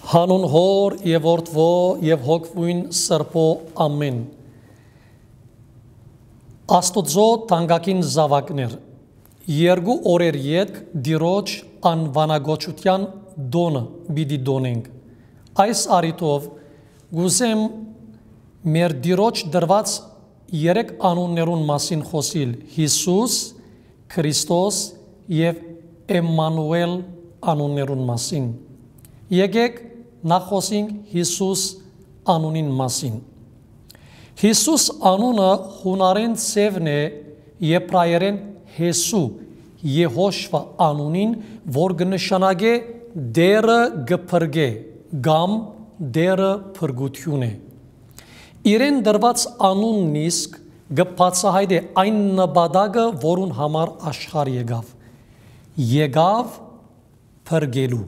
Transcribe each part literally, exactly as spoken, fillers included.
Հանուն Հօր եւ Որդւոյ եւ Հոգւոյն Սրբոյ, ամէն։ Աստուծոյ թանկագին զաւակներ, երկու օրեր ետք Տիրոջ անուանակոչութեան տօնը պիտի տօնենք։ Այս առիթով կ'ուզեմ մեր Տիրոջ տրուած երեք անուններուն մասին խօսիլ՝ Յիսուս, Քրիստոս եւ Էմմանուէլ անուններուն մասին։ Եկէք նախ խօսենք Յիսուս անունին մասին։ Յիսուս անունը յունարէն ձեւն է եբրայերէն Յեսու, Եհոշվա անունին, որ կը նշանակէ Տէրը կը փրկէ կամ Տէրը փրկութիւն է։ Իրեն տրուած անունն իսկ կը բացայայտէ այն նպատակը, որուն համար աշխարհ եկաւ։ Եկաւ փրկելու։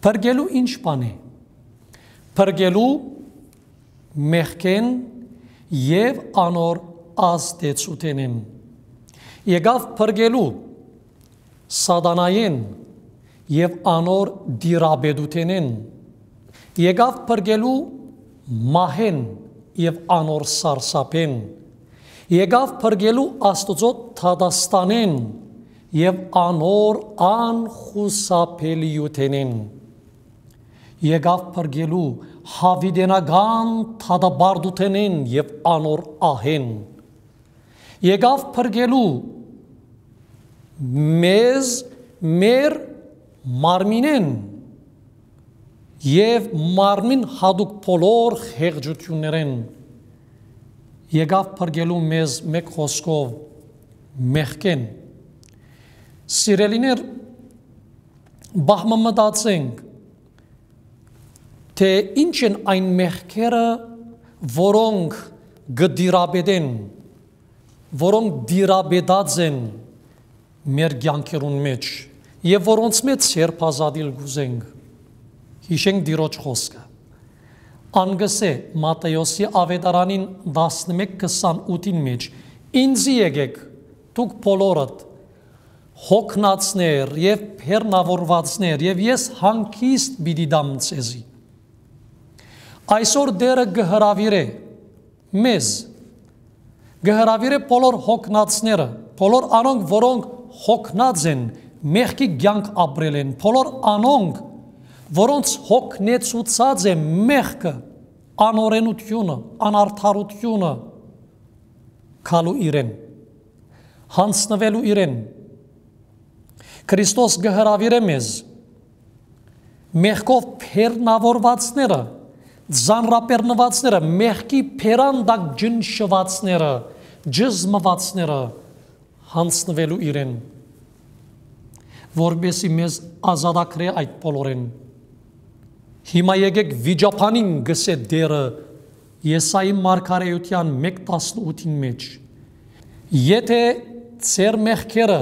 Փրկելու ի՞նչ բան է։ Փրկելու մեղքէն եւ անոր ազդեցութենէն։ Եկաւ փրկելու Սատանայէն եւ անոր տիրապետութենէն։ Եկաւ փրկելու մահէն եւ անոր սարսափէն։ Եկաւ փրկելու Աստուծոյ դատաստանէն եւ անոր անխուսափելիութենէն։ Եկաւ փրկելու յաւիտենական դատապարտութենէն եւ անոր ահէն։ Եկաւ փրկելու մեզ մեր մարմինէն եւ մարմին յատուկ բոլոր խեղճութիւններէն։ Եկաւ փրկելու մեզ, մէկ խօսքով, մեղքէն։ Սիրելիներ, պահ մը մտածենք, թէ ի՞նչ են այն մեղքերը, որոնք կը տիրապետեն, որոնք տիրապետած են մեր կեանքերուն մէջ եւ որոնց մէջ սերբազատիլ կ'ուզենք։ Յիշենք Տիրոջ խօսքը։ Ան կ'ըսէ Մատթէոսի Աւետարանին տասնմէկ քսանութին մէջ. «Ինծի եկէք, դուք բոլորդ, հոգնածներ եւ բեռնաւորուածներ, եւ ես հանգիստ պիտի տամ ձեզի»։ Այսօր Տէրը կը հրաւիրէ մեզ, կը հրաւիրէ բոլոր հոգնածները, բոլոր անոնք, որոնք հոգնած են, մեղքի կեանք ապրել են, բոլոր անոնք, որոնց հոգնեցուցած է մեղքը, անօրենութիւնը, անարդարութիւնը, գալու իրեն, յանձնուելու իրեն։ Քրիստոս կը հրաւիրէ մեզ, մեղքով բեռնաւորուածները, ծանրաբեռնուածները, մեղքի բերան տակ ճնշուածները, ճզմուածները, յանձնուելու իրեն, որպեսզի մեզ ազատագրէ այդ բոլորէն։ Հիմա եկէք վիճաբանին, կ'ըսէ Տէրը Եսայի մարգարէութեան մէկ տասնութին մէջ. «Եթէ ձեր մեղքերը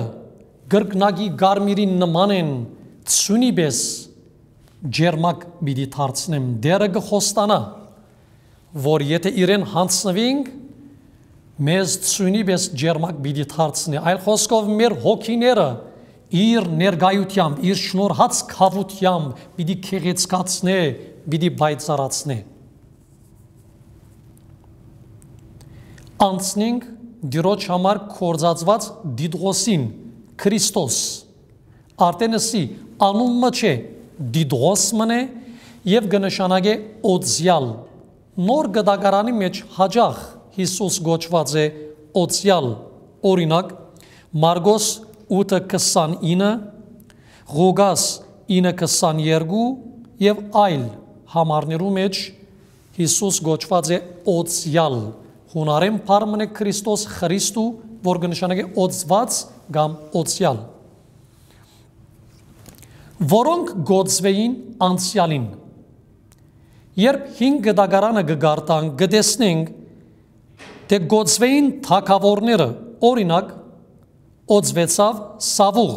կրկնակի կարմիրին նման են, ձիւնի պէս ճերմակ պիտի դարձնեմ»։ Տէրը կը խոստանայ, որ եթէ իրեն յանձնուինք, մեզ ձիւնի պէս ճերմակ պիտի դարձնէ։ Այլ խօսքով, մեր հոգիները իր ներկայութեամբ, իր շնորհած գաւութեամբ պիտի գեղեցկացնէ, պիտի պայծառացնէ։ Անցնենք Տիրոջ համար գործածուած Տիտղոսին, Քրիստոս։ Արդեն ըսի, անուն մը չէ, Տիտղոս մըն է եւ կը նշանակէ օծեալ։ Նոր Կտակարանի մէջ յաճախ Յիսուս կոչուած է օծեալ։ Օրինակ, Մարկոս ութը քսանինը, Ղուկաս ինը քսաներկու եւ այլ համարներու մէջ Յիսուս կոչուած է օծեալ։ Յունարէն բառ մըն է Քրիստոս, Խրիստու, որ կը նշանակէ օծուած կամ օծեալ։ Որոնք կ'օծուէին անցեալին։ Երբ Հին Կտակարանը կը կարդանք, կը տեսնենք, թէ կ'օծուէին թագաւորները, օրինակ, օծուեցաւ Սաւուղ,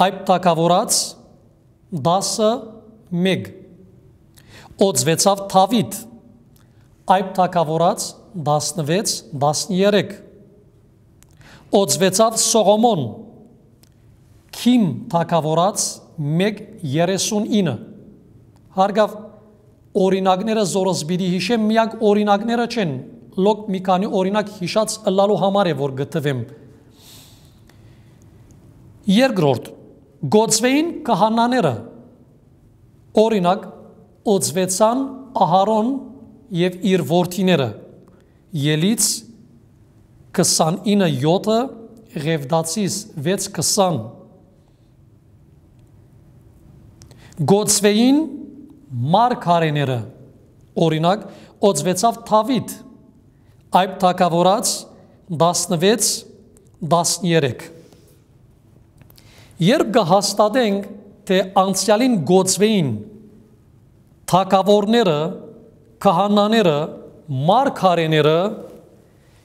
Այբ թագաւորաց տասը մէկ, օծուեցաւ Դաւիթ, Այբ թագաւորաց տասնվեց, տասներեք, օծուեցաւ Սողոմոն, Քիմ թագաւորաց մէկ երեսուն ինը։ Հարգաւ օրինակները, զորս պիտի յիշեմ, միակ օրինակները չեն, լոկ մի քանի օրինակ յիշած ըլլալու համար է, որ գտվեմ։ Երկրորդ, գոծվեին քահանաները, օրինակ, օծվեցան Ահարոն եւ իր որդիները, Ելից քսանինը յոթը, Ղևտացիս վեց քսան։ Գոծվեին մարգարեները, օրինակ, օծվեցաւ Դաւիթ, Այբ թագաւորաց տասնվեց, տասներեք։ Երբ կը հաստատենք, թէ անցեալին գոծվեին թագաւորները, քահանաները, մարգարեները,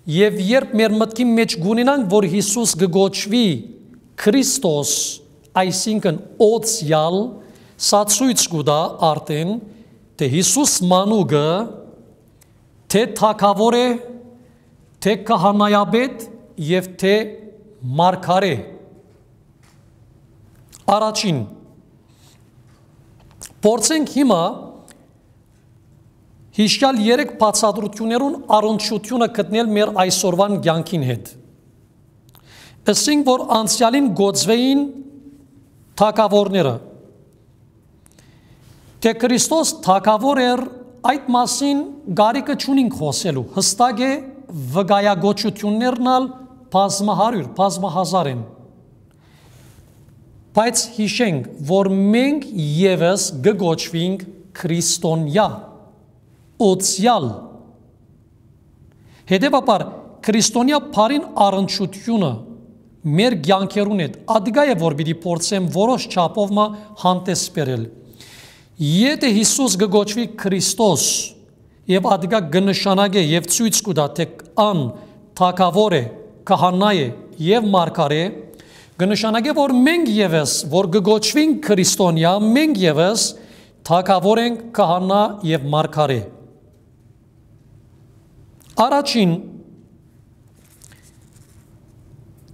եւ երբ մեր մտքին մէջ կունենանք, որ Յիսուս կը կոչուի Քրիստոս, այսինքն՝ օծեալ, սա ցոյց կու տայ արդեն, թէ Յիսուս մանուկը թէ թագաւոր է, թէ քահանայապետ եւ թէ մարգարէ։ Առաջին, փորձենք հիմա յիշեալ երեք բացատրութիւններուն առնչութիւնը գտնել մեր այսօրուան կեանքին հետ։ Ըսինք, որ անցեալին գոծվեին թագաւորները, թէ Քրիստոս թագաւոր էր, այդ մասին կարիքը չունինք խօսելու, յստակ է, վկայակոչութիւններն ալ բազմահարիւր, բազմահազար են։ Բայց յիշենք, որ մենք եւս կը կոչուինք քրիստոնեայ, օծեալ։ Հետեւաբար, քրիստոնեայ բառին առնչութիւնը մեր կեանքերուն հետ ատկայ է, որ պիտի փորձեմ որոշ չափով մը հանդես բերել։ Եթէ Յիսուս կը կոչուի Քրիստոս, եւ ատկայ կը նշանակէ եւ ցոյց կու տայ, թէ ան թագաւոր է, քահանայ է եւ մարգարէ, կը նշանակէ, որ մենք եւս, որ կը կոչուինք քրիստոնեայ, մենք եւս թագաւոր ենք, քահանայ եւ մարգարէ։ Առաջին,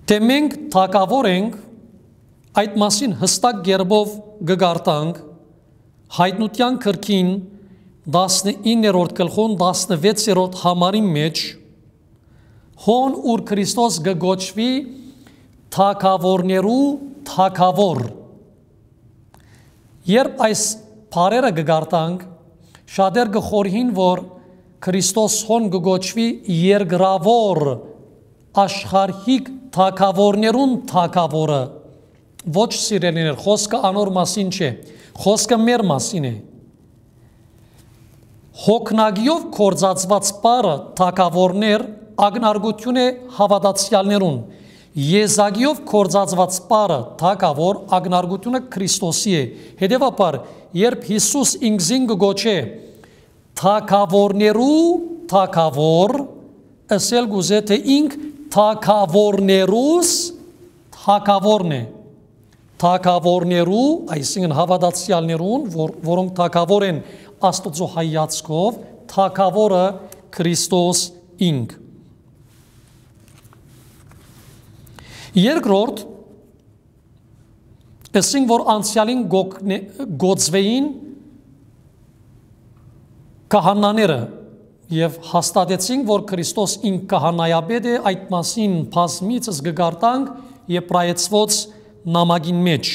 թէ մենք թագաւոր ենք, այդ մասին յստակ կերպով կը կարդանք Յայտնութեան գրքին տասնիններորդ գլխուն տասնվեցերորդ համարին մէջ, հոն ուր Քրիստոս կը կոչուի թագաւորներու թագաւոր։ Երբ այս բառերը կը կարդանք, շատեր կը խորհին, որ Քրիստոս հոն կը կոչուի երկրաւոր, աշխարհիկ թագաւորներուն թագաւորը։ Ոչ, սիրելիներ, խօսքը անոր մասին չէ, խօսքը մեր մասին է։ Հոգնակիով գործածուած բառը թագաւորներ ակնարկութիւն է հաւատացեալներուն, եզակիով գործածուած բառը թագաւոր ակնարկութիւնը Քրիստոսի է։ Հետեւաբար, երբ Յիսուս ինքզին կը կոչէ թագաւորներու թագաւոր, ըսել կուզէ, թէ ինք թագաւորներուս թագաւորն է։ Թագաւորներու, այսինքն՝ հաւատացեալներուն, որ, որոնք թագաւոր են Աստուծոյ հայացքով, թագաւորը Քրիստոս ինք։ Երկրորդ, ըսինք, որ անցեալին գոգնե-, գոծվեին քահանաները եւ հաստատեցինք, որ Քրիստոս ինք քահանայապետ է, այդ մասին բազմիցս կը կարդանք Եբրայեցուց նամակին մէջ։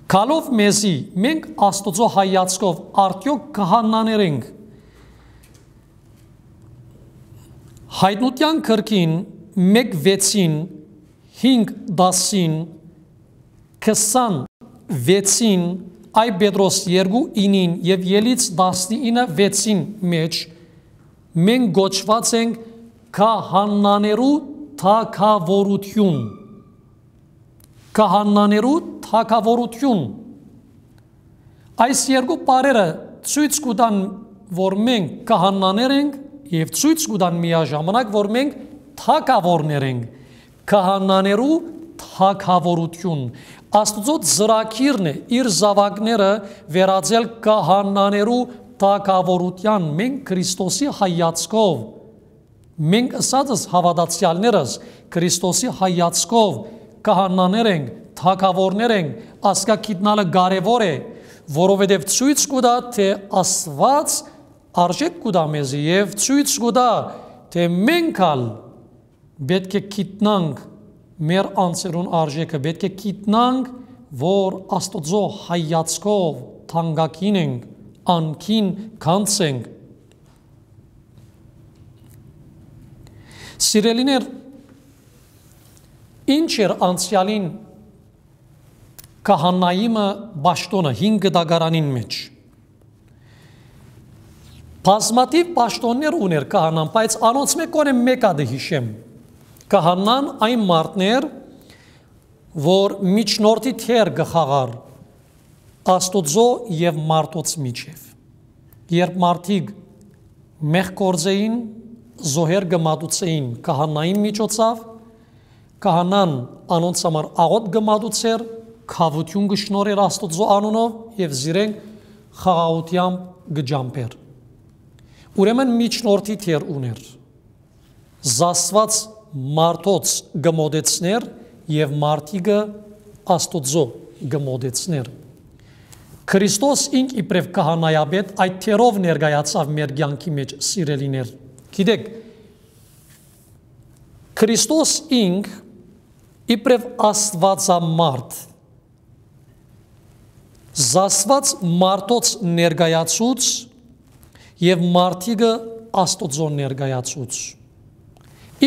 Գալով մեզի, մենք Աստուծոյ հայացքով արդեօք քահանաներ ենք։ Յայտնութեան գրքին մէկ վեցին, հինգ տասին, քսան վեցին, Այ Պետրոս երկու ինին եւ Ելից տասնինը վեցին մէջ մենք կոչուած ենք քահանաներու թագաւորութիւն։ Քահանաներու թագաւորութիւն։ Այս երկու բառերը ցոյց կու տան, որ մենք քահանաներ ենք, եւ ցոյց կու տան միաժամանակ, որ մենք թագաւորներ ենք, քահանաներու թագաւորութիւն։ Աստուծոյ ծրագիրն է իր զաւակները վերածել քահանաներու թագաւորութեան։ Մենք Քրիստոսի հայացքով, մենք ըսածս հաւատացեալներս Քրիստոսի հայացքով քահանաներ ենք, թագաւորներ ենք, ասկա գիտնալը կարեւոր է, որովհետեւ ցոյց կու տայ թէ Աստուած արժէք կու տայ մեզի եւ ցոյց կու տայ թէ մենք ալ պէտք է գիտնանք մեր անձերուն արժէքը, պէտք է գիտնանք, որ Աստուծոյ հայացքով թանկագին ենք, անկին գանձ ենք։ Սիրելիներ, ինչ էր անցեալին քահանայիմը պաշտօնը հին կտակարանին մէջ։ Բազմաթիւ պաշտօններ ունէր քահանան, բայց անոնցմէ կոնե մէկ ատը յիշեմ։ Քահանան այն մարդն էր, որ միջնորդի դեր կը խաղար Աստուծոյ եւ մարդոց միջեւ։ Երբ մարդիկ մեղք գործէին, զոհեր կը մատուցէին քահանային միջոցով, քահանան անոնց համար աղօթք կը մատուցէր, քաւութիւն կը շնորհէր Աստուծոյ անունով եւ զիրենք խաղաղութեամբ կը ջամբէր։ Ուրեմն միջնորդի դեր ունէր։ Զաստուած մարդոց կը մոտեցնէր եւ մարդիկը Աստուծոյ կը մոտեցնէր։ Քրիստոս ինք իբրեւ քահանայապետ այդ դերով ներկայացաւ մեր կեանքի մէջ, սիրելիներ։ Գիտեք, Քրիստոս ինք իբրեւ Աստուածամարդ, զաստուած մարդոց ներկայացուց եւ մարդիկը Աստուծոյ ներկայացուց։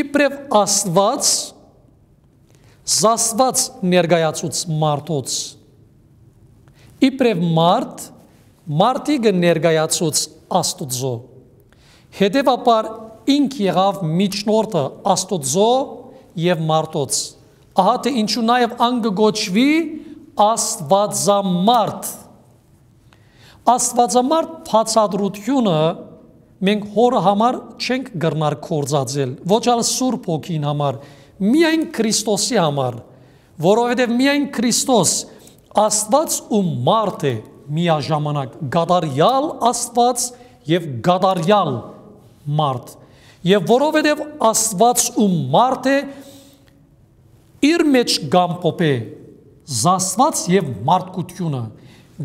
Իբրեւ Աստուած, զաստուած ներկայացուց մարդոց, իբրեւ մարդ, մարդիկը ներկայացուց Աստուծոյ։ Հետեւաբար ինք եղաւ միջնորդը Աստուծոյ եւ մարդոց։ Ահա թէ ինչու նաեւ ան կը կոչուի Աստուածամարդ։ Աստուածամարդ բացատրութիւնը մենք Հօրը համար չենք կրնար գործածել, ոչ ալ Սուրբ Հոգին համար, միայն Քրիստոսի համար, որովհետեւ միայն Քրիստոս Աստուած ու մարդ է միաժամանակ, կատարեալ Աստուած եւ կատարեալ մարդ։ Եւ որովհետեւ Աստուած ու մարդ է, իր մէջ կ'ամփոփէ զաստուած եւ մարդկությունը։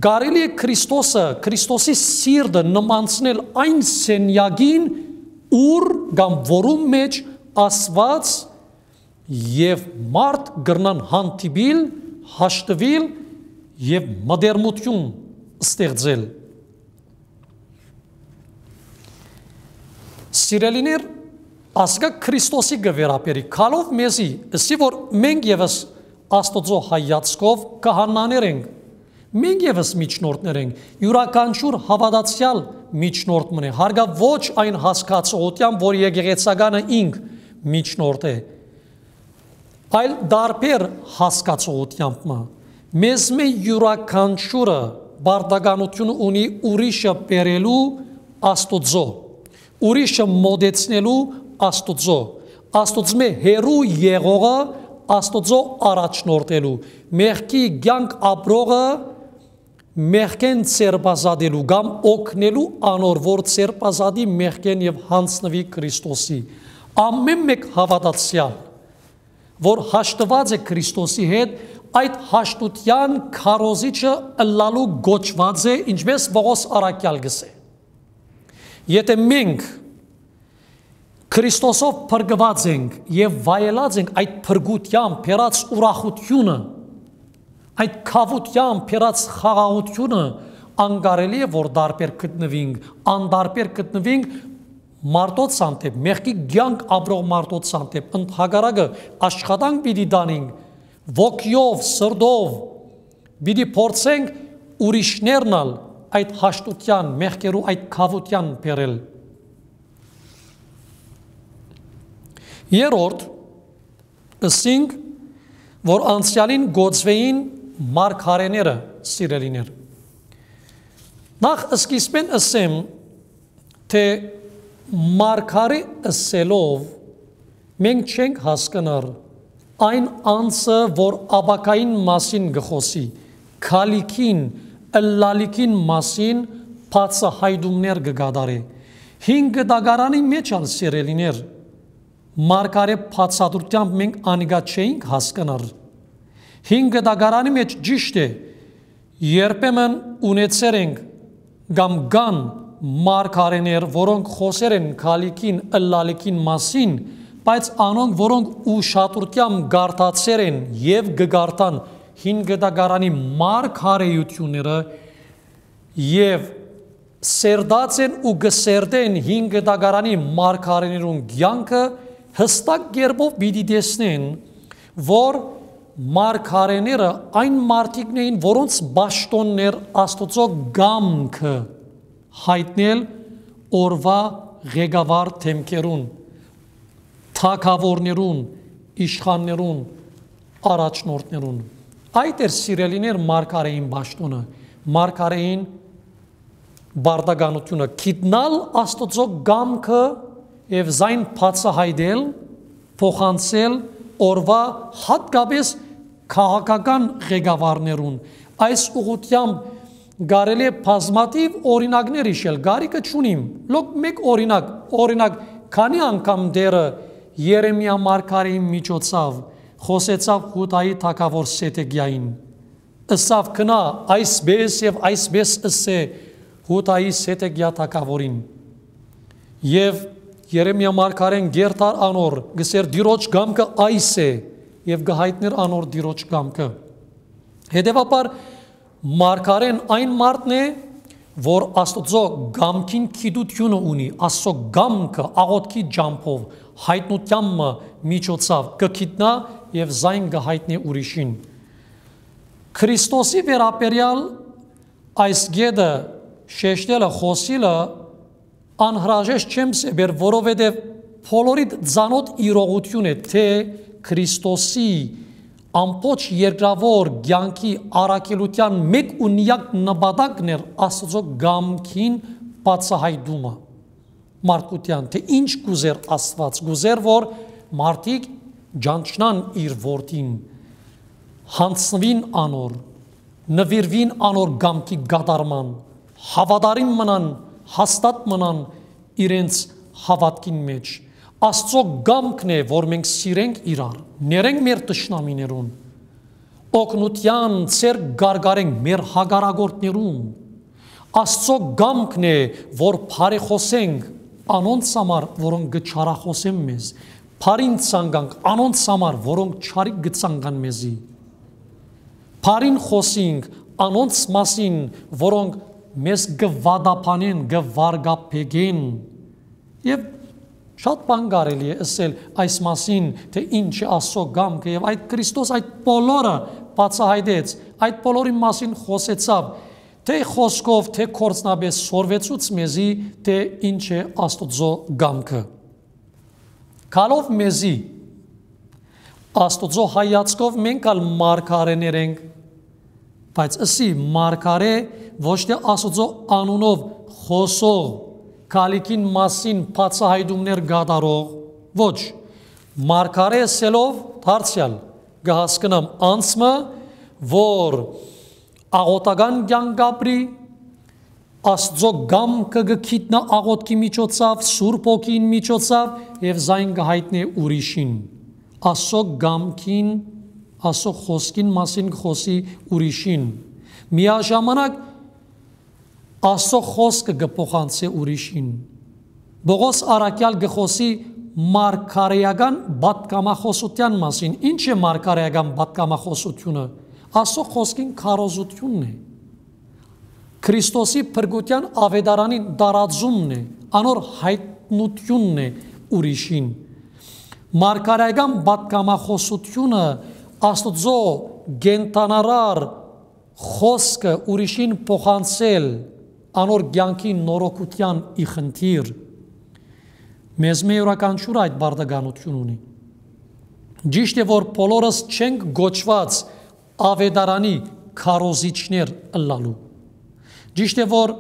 Կարելի է Քրիստոսը, Քրիստոսի սիրտը նմանցնել այն սենեակին, ուր կամ որուն մէջ Աստուած եւ մարդ կրնան հանդիպիլ, հաշտուիլ եւ մտերմութիւն ստեղծել։ Սիրելիներ, ասկա Քրիստոսի կը վերաբերի, քալով մեզի, ըսի որ մենք եւս Աստուծոյ հայացքով քահանաներ ենք, մենք եւս միջնորդներ ենք, իւրաքանչիւր հաւատացեալ միջնորդ մնե, հարգա ոչ այն հասկացողութեան, որ եկեղեցականը ինք միջնորդ է, այլ տարբեր հասկացողութեամբ մը։ Մեզմէ իւրաքանչիւրը պարտականութիւն ունի ուրիշը բերելու Աստուծոյ, ուրիշը մոտեցնելու Աստուծոյ, Աստուծմէ հեռու եղողը Աստուծոյ առաջնորդելու, մեղքի կեանք ապրողը մեղքէն ձերբազատելու կամ օգնելու անոր, որ ձերբազատի մեղքէն եւ յանձնուի Քրիստոսի։ Ամէն մէկ հաւատացեալ, որ հաշտուած է Քրիստոսի հետ, այդ հաշտութեան քարոզիչը ըլլալու կոչուած է, ինչպես Պողոս առաքեալ կ'ըսէ։ Եթէ մենք Քրիստոսով փրկուած ենք եւ վայելած ենք այդ փրկութեան բերած ուրախութիւնը, այդ քաւութեան բերած խաղաղութիւնը, անկարելի է որ տարբեր գտնուինք, անտարբեր գտնուինք մարդոց հանդէպ, մեղքի կեանք ապրող մարդոց հանդէպ, ընդհակառակը, աշխատանք պիտի տանենք, ոգիով, սրտով, պիտի փորձենք ուրիշներն ալ այդ հաշտութեան, մեղքերու այդ քաւութեան բերել։ Երրորդ, ըսինք, որ անցեալին գոծուէին մարգարեները, սիրելիներ։ Նախ սկիզբէն ըսեմ, թէ մարգարէ ըսելով մենք չենք հասկնար այն անձը, որ ապագային մասին կը խօսի, քալիքին, ըլլալիքին մասին բացահայտումներ կը կատարէ։ Հին կտակարանի մէջ ալ, սիրելիներ, մարգարէ բացատրութեամբ մենք անիկա չէինք հասկնար, Հին կտակարանի մէջ ճիշդ է, երբեմն ունեցեր ենք կամ կան մարգարէներ, որոնք խօսեր են գալիքին, ըլլալիքին մասին, բայց անոնք, որոնք ուշադրութեամբ կարդացեր են եւ կը կարդան հին կտակարանի մարգարէութիւնները եւ սերտած են ու կը սերտեն հին կտակարանի մարգարէներուն կեանքը, յստակ կերպով պիտի տեսնեն, որ մարգարէները այն մարդիկն էին, որոնց պաշտօնն էր Աստուծոյ կամքը յայտնել օրուայ ղեկավար դէմքերուն, թագաւորներուն, իշխաններուն, առաջնորդներուն։ Այդ էր, սիրելիներ, մարգարէին պաշտօնը, մարգարէին պարտականութիւնը, գիտնալ Աստուծոյ կամքը եւ զայն բացայայտել, փոխանցել օրուայ, յատկապէս քաղաքական ղեկավարներուն։ Այս ուղղութեամբ կարելի է բազմաթիւ օրինակներ յիշել, կարիքը չունիմ, լոկ մէկ օրինակ, օրինակ, քանի անգամ Տէրը Երեմիա մարգարէին միջոցաւ խօսեցաւ Յուդայի թագաւոր Սեդեկիային, ըսաւ. «Գնա, այսպէս եւ այսպէս ըսէ Յուդայի Սեդեկիա թագաւորին»։ Եւ Երեմիա մարգարէն կ'երթար անոր, կ'ըսէր. «Տիրոջ կամքը այս է», եւ կը յայտնէր անոր Տիրոջ կամքը։ Հետեւաբար, մարգարէն այն մարդն է, որ Աստուծոյ կամքին գիտութիւնը ունի, Աստուծոյ կամքը աղօթքի ճամբով, յայտնութեան մը միջոցաւ կը գիտնայ եւ զայն կը յայտնէ ուրիշին։ Քրիստոսի վերաբերեալ այս կէտը շեշտելը, խօսիլը անհրաժեշտ չեմ սեպեր, որովհետեւ բոլորիդ ծանօթ իրողութիւն է, թէ Քրիստոսի ամբողջ երկրաւոր կեանքի առաքելութեան մէկ ու միակ նպատակն էր Աստուծոյ կամքին բացայայտումը մարդկութեան, թէ ինչ կ'ուզէր Աստուած, կ'ուզէր, որ մարդիկ ճանչնան իր որդին, յանձնուին անոր, նուիրուին անոր կամքի կատարման, հաւատարիմ մնան, հաստատ մնան իրենց հաւատքին մէջ։ Աստուծոյ կամքն է, որ մենք սիրենք իրար, ներենք մեր թշնամիներուն, օգնութեան ձեռք կարկարենք մեր հակառակորդներուն։ Աստուծոյ կամքն է, որ բարեխօսենք անոնց համար, որոնք կը չարախօսեն մեզ, բարին ցանկանք անոնց համար, որոնք չարիք կը ցանկան մեզի, բարին խօսինք անոնց մասին, որոնք մեզ կը վատաբանեն, կը վարկաբեկեն։ Եւ շատ բան կարելի է ըսել այս մասին, թէ ինչ է Աստուծոյ կամքը, եւ այդ Քրիստոս այդ բոլորը բացայայտեց, այդ բոլորին մասին խօսեցաւ, թէ խօսքով, թէ գործնապէս սորվեցուց մեզի, թէ ինչ է Աստուծոյ կամքը։ Գալով մեզի, Աստուծոյ հայացքով մենք ալ մարգարէներ ենք, բայց ըսի մարգարէ, ոչ թէ Աստուծոյ անունով խօսող, գալիքին մասին բացայայտումներ կատարող, ոչ, մարգարէ ըսելով դարձեալ կը հասկնամ անձ մը, որ աղօթական կեանք կ'ապրի, Աստուծոյ կամքը կը գիտնայ աղօթքի միջոցաւ, Սուրբ Հոգին միջոցաւ եւ զայն կը յայտնէ ուրիշին։ Աստուծոյ կամքին, Աստուծոյ խօսքին մասին կը խօսի ուրիշին։ Միաժամանակ Աստուծոյ խօսքը կը փոխանցէ ուրիշին։ Պողոս առաքեալ կը խօսի մարգարէական պատգամախօսութեան մասին։ Ինչ է մարգարէական պատգամախօսութիւնը։ Աստուծոյ խօսքին քարոզութիւնն է։ Քրիստոսի փրկութեան աւետարանին տարածումն է, անոր յայտնութիւնն է ուրիշին։ Մարգարէական պատգամախօսութիւնը Աստուծոյ կենդանարար խօսքը ուրիշին փոխանցել, անոր կեանքի նորոգութեան ի խնդիր։ Մեզմէ իւրաքանչիւր այդ պարտականութիւն ունի։ Ճիշդ է, որ բոլորս չենք կոչուած աւետարանի քարոզիչներ ըլլալու։ Ճիշդ է, որ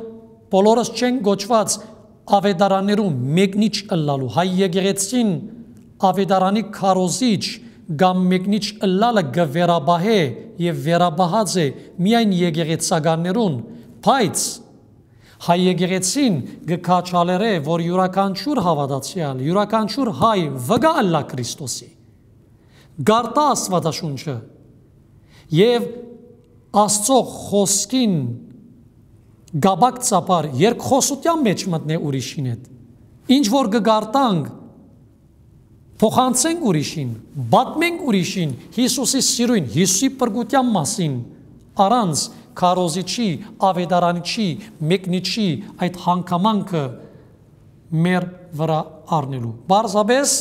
բոլորս չենք կոչուած աւետարաններու մեկնիչ ըլլալու։ Հայ եկեղեցին աւետարանի քարոզիչ կամ մեկնիչ ըլլալը կը վերապահէ եւ վերապահած է միայն եկեղեցականներուն, բայց հայ եկեղեցին կը քաջալերէ, որ իւրաքանչիւր հաւատացեալ, իւրաքանչիւր հայ վկայ ըլլայ Քրիստոսի, կարդայ Աստուածաշունչը Եւ Աստծո խօսքին գաբակ ծապար երկխօսութեան մէջ մտնէ ուրիշին հետ։ Ինչ որ կը գարտանք, փոխանցենք ուրիշին, պատմենք ուրիշին Յիսուսի սիրոյն, Յիսուսի փրկութեան մասին, առանց քարոզիչի, աւետարանիչի, մեկնիչի այդ հանգամանքը մեր վրայ առնելու։ Պարզապէս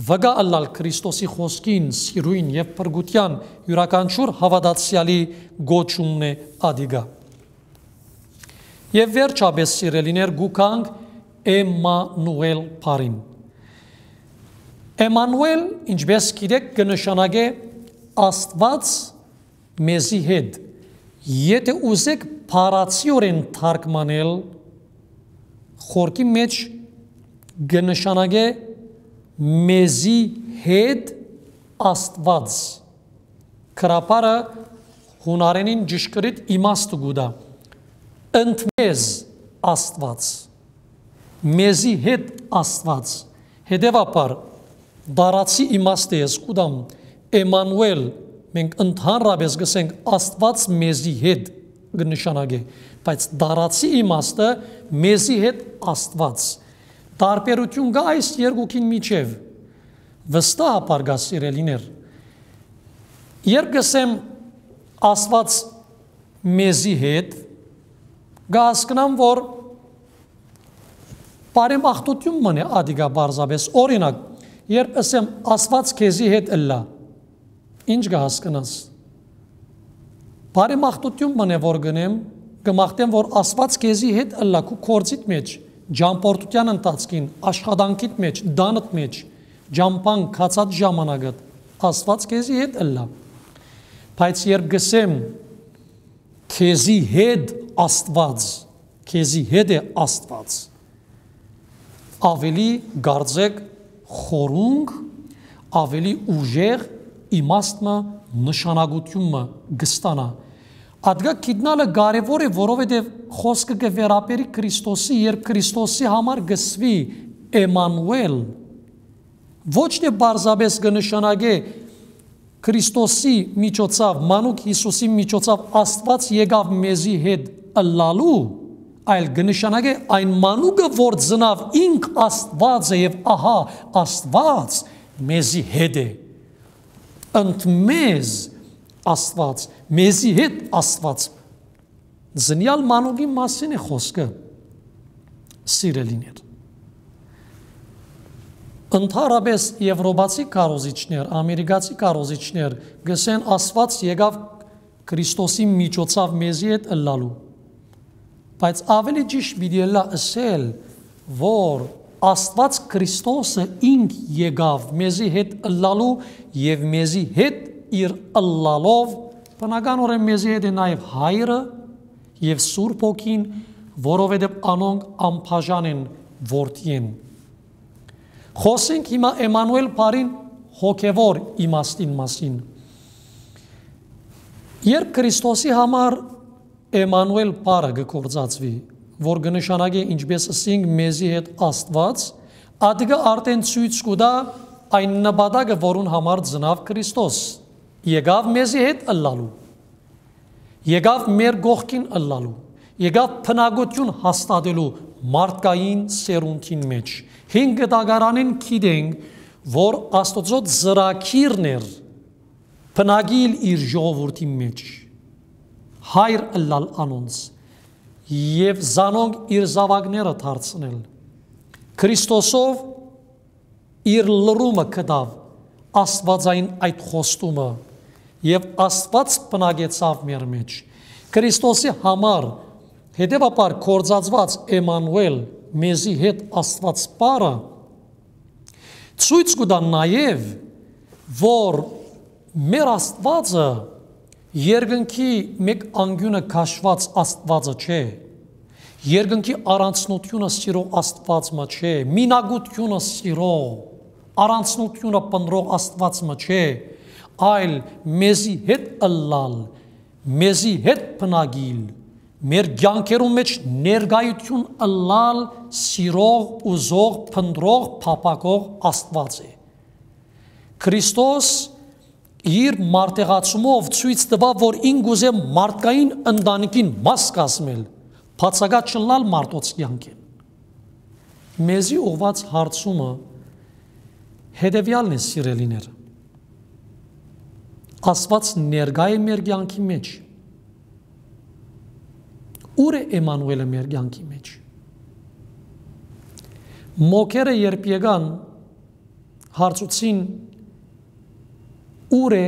վկայ ըլլալ Քրիստոսի խօսքին, սիրոյն եւ փրկութեան իւրաքանչիւր հաւատացեալի կոչումն է ատիկա։ Եւ վերջապէս, սիրելիներ, գուքանք Էմմանուէլ բառին։ Էմմանուէլ, ինչպէս գիտեք, կը նշանակէ Աստուած մեզի հետ։ Եթէ ուզեք բառացիորեն թարգմանել, խորքի մէջ կը նշանակէ մեզի հետ Աստուած։ Գրաբարը յունարէնին ճշգրիտ իմաստը կու տայ։ Ընդ մեզ Աստուած, մեզի հետ Աստուած։ Հետեւաբար, դարացի իմաստը ես կու տամ, Էմմանուէլ, մենք ընդհանրապէս կ'ըսենք Աստուած մեզի հետ կը նշանակէ, բայց դարացի իմաստը՝ մեզի հետ Աստուած։ Տարբերութիւն կա այս երկուքին միջեւ։ Վստահաբար կա, սիրելիներ։ Երբ կ'ըսեմ Աստուած մեզի հետ, կը հասկնամ, որ բարեմաղթութիւն մըն է ատիկա պարզապէս։ Օրինակ, երբ ըսեմ Աստուած քեզի հետ ըլլայ, ինչ կը հասկնաս։ Բարեմաղթութիւն մըն է որ կ'ընեմ, կը մաղթեմ, որ Աստուած քեզի հետ ըլլայ քու գործիդ մէջ, ճամբորդութեան ընթացքին, աշխատանքիդ մէջ, տանդ մէջ, ճամբան գացած ժամանակդ, Աստուած քեզի հետ ըլլայ։ Բայց երբ կ'ըսեմ, քեզի հետ Աստուած, քեզի հետ է Աստուած, ավելի կարծեք խորունկ, ավելի ուժեղ իմաստ մը, նշանակութիւն մը կը ստանայ։ Ատկա գիտնալը կարեւոր է, որովհետեւ խօսքը կը վերաբերի Քրիստոսի, երբ Քրիստոսի համար կ'ըսուի Էմմանուէլ, ոչ թէ պարզապէս կը նշանակէ Քրիստոսի միջոցաւ, մանուկ Յիսուսի միջոցաv Աստուած եկաւ մեզի հետ ըլլալու, այլ կը նշանակէ այն մանուկը, որ ծնաւ ինք Աստուած է եւ ահա Աստուած մեզի հետ է։ Ընդ մեզ Աստուած, մեզի հետ Աստուած։ Զնեալ մանուկի մասին է խոսքը, սիրելիներ։ Ընդհանրապէս եվրոպացի քարոզիչներ, ամերիկացի քարոզիչներ կ'ըսեն Աստուած եկաւ Քրիստոսի միջոցաv մեզի հետ ըլլալու։ Բայց ավելի ճիշդ պիտի ըլլայ ըսել, որ Աստուած Քրիստոսը ինք եկաւ մեզի հետ ըլլալու եւ մեզի հետ իր ըլլալով, բնականօրէն մեզի հետ է նաեւ Հայրը եւ Սուրբ Հոգին, որովհետեւ անոնք անբաժան են Որդիէն։ Խօսենք հիմա Էմմանուէլ բառին հոգեվոր իմաստին մասին։ Երբ Քրիստոսի համար Էմմանուէլ բառը կը գործածուի, որ կը նշանակէ, ինչպէս ըսինք, մեզի հետ Աստուած, ատիկա արդեն ցոյց կու տայ այն նպատակը, որուն համար ծնաւ Քրիստոս, եկաւ մեզի հետ ըլլալու, եկաւ մեր կողքին ըլլալու, եկաւ բնակութիւն հաստատելու մարդկային սերունդին մէջ։ Հին կտակարանին գիտենք, որ Աստուծոյ ծրագիրն էր բնակիլ իր ժողովուրդի մէջ, հայր ըլլալ անոնց եւ զանոնք իր զաւակները դարձնել։ Քրիստոսով իր լրումը գտաւ աստուածային այդ խոստումը եւ Աստուած բնակեցաւ մեր մէջ։ Քրիստոսի համար, հետեւաբար, գործածուած Էմմանուէլ, մեզի հետ Աստուած բառը, ցոյց կու տայ նաեւ, որ մեր Աստուածը երկնքի մէկ անկիւնը քաշուած Աստուածը չէ, երկնքի առանձնութիւնը սիրող Աստուած մը չէ, մինակութիւնը սիրող, առանձնութիւնը փնտռող Աստուած մը չէ, այլ մեզի հետ ըլլալ, մեզի հետ բնակիլ, մեր կեանքերուն մէջ ներկայութիւն ըլլալ սիրող, ուզող, փնտռող, փափաքող Աստուած է։ Քրիստոս իր մարդեղացումով ցոյց տուաւ, որ ինք ուզէ մարդկային ընտանիքին մաս կազմել, բացակայ չըլլալ մարդոց կեանքէն։ Մեզի ուղղուած հարցումը հետեւեալն է, սիրելիներ. Աստուած ներկայ է մեր կեանքի մէջ։ Ո՞ւր է Էմանուէլը մեր կեանքի մէջ։ Մոգերը երբ եկան, հարցուցին. «Ո՞ւր է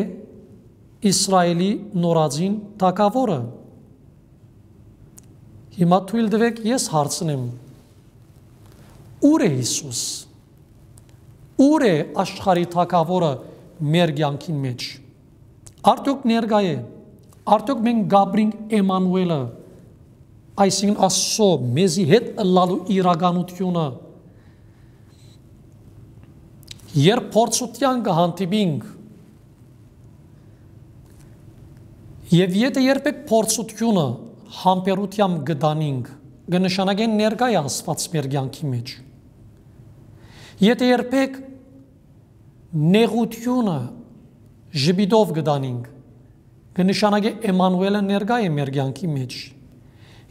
Իսրայէլի նորածին թագաւորը»։ Հիմա թոյլ տուէք, ես հարցնեմ. ո՞ւր է Յիսուս։ Ո՞ւր է աշխարհի թագաւորը մեր կեանքին մէջ։ Արդյոք ներկայ է։ Արդյոք մենք կապրինք Էմանուէլը, այսինքն՝ Աստուծոյ մեզի հետ ըլլալու իրականութիւնը։ Երբ փորձութեան կը հանդիպինք, եւ եթէ երբեք փորձութիւնը համբերութեամբ կը տանինք, կը նշանակէ ներկայ է Աստուած մեր կեանքի մէջ։ Եթէ երբեք նեղութիւնը ժպիտով կը տանինք, կը նշանակէ Էմանուէլը ներկայ է մեր կեանքի մէջ։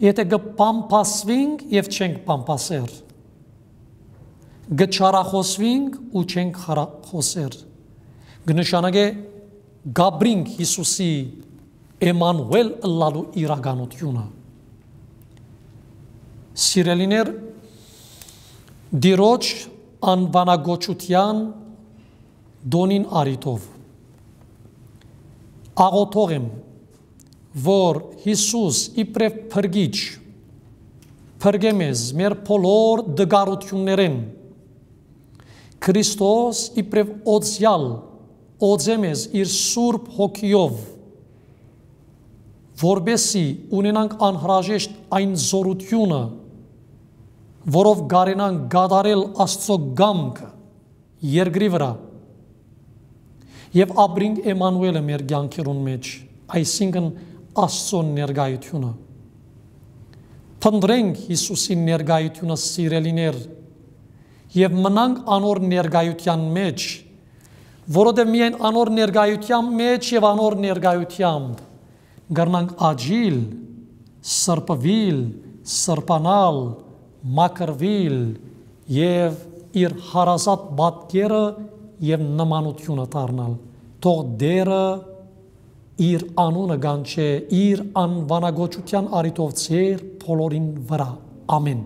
Եթէ կը փամփասուինք եւ չենք փամփասեր, կը չարախօսուինք ու չենք խարախօսեր, կը նշանակէ կապրինք Յիսուսի Էմանուէլ ըլլալու իրականութիւնը։ Սիրելիներ, Տիրոջ անուանակոչութեան տօնին առիթով աղօթող եմ, որ Յիսուս իբրեւ փրկիչ փրկէ մեզ մեր բոլոր տկարութիւններէն։ Քրիստոս իբրեւ օծեալ օծէ մեզ իր Սուրբ Հոգիով, որպեսզի ունենանք անհրաժեշտ այն զօրութիւնը, որով կարենանք կատարել Աստուծոյ կամքը երկրի վրայ եւ ապրինք Էմանուէլը մեր կեանքերուն մէջ, այսինքն՝ Աստուծոյ ներկայութիւնը։ Փնտռենք Յիսուսին ներկայութիւնը, սիրելիներ, եւ մնանք անոր ներկայութեան մէջ, որովհետեւ միայն անոր ներկայութեան մէջ եւ անոր ներկայութեամբ կրնանք աճիլ, սրբուիլ, սրբանալ, մաքրուիլ եւ իր հարազատ պատկերը եւ նմանութիւնը դառնալ։ Թող Տէրը իր անունը կանչէ իր անուանակոչութեան առիթով ձեր բոլորին վրայ։ Ամէն։